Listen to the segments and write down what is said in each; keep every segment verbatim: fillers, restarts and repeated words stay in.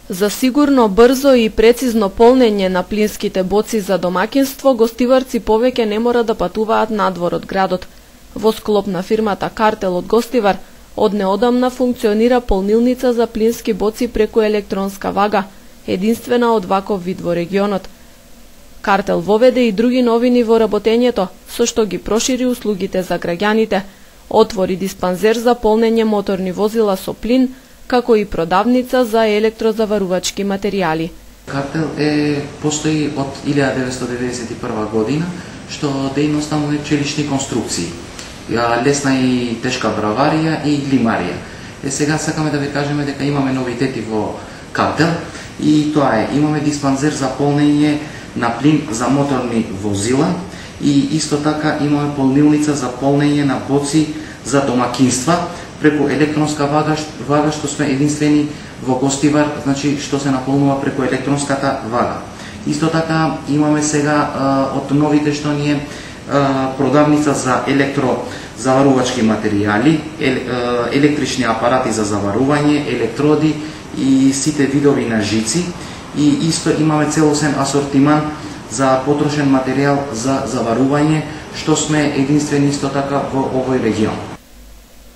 За сигурно, брзо и прецизно полнење на плинските боци за домаќинство, гостиварци повеќе не мора да патуваат надвор од градот. Во склоп на фирмата Картел од Гостивар, од неодамна функционира полнилница за плински боци преку електронска вага, единствена од ваков вид во регионот. Картел воведе и други новини во работењето, со што ги прошири услугите за граѓаните, отвори диспанзер за полнење моторни возила со плин, како и продавница за електрозаварувачки материјали. Картел е постои од илјада деветстотини деветдесет и прва година, што дејноста му е челични конструкции, лесна и тешка браварија и лимарија. Е сега сакаме да ви кажеме дека имаме новитети во Картел и тоа е, имаме диспанзер за полнење на плин за моторни возила и исто така имаме полнилница за полнење на боци за домакинства преку електронска вага, вага што сме единствени во Гостивар, значи што се наполнува преку електронската вага. Исто така имаме сега а, од новите што ни е а, продавница за електрозаварувачки материјали, ел, а, електрични апарати за заварување, електроди и сите видови на жици. И исто имаме целосен асортиман за потрошен материјал за заварување, што сме единствени исто така во овој регион.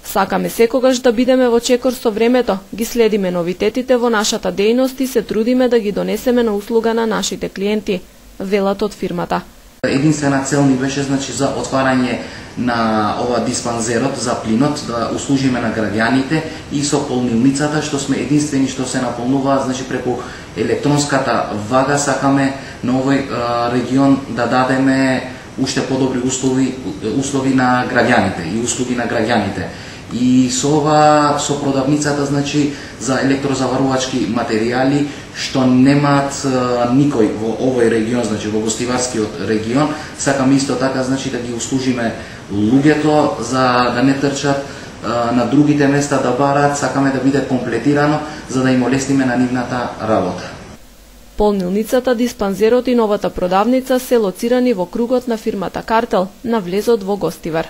Сакаме секогаш да бидеме во чекор со времето, ги следиме новитетите во нашата дејност и се трудиме да ги донесеме на услуга на нашите клиенти, велат од фирмата. Единствена цел ни беше значи за отварање на ова диспанзерот за плинот, да услужиме на граѓаните и со полнилницата, што сме единствени што се наполнува значи преку електронската вага. Сакаме на овој а, регион да дадеме уште подобри услови, услови на граѓаните и услуги на граѓаните. И со ова, со продавницата значи за електрозаварувачки материјали што немаат а, никој во овој регион, значи во Гостиварскиот регион, сакаме исто така значи да ги услужиме луѓето за да не трчат а, на другите места да бараат, сакаме да биде комплетирано за да им олесниме на нивната работа. Полнилницата, диспанзерот и новата продавница се лоцирани во кругот на фирмата Картел на влезот во Гостивар.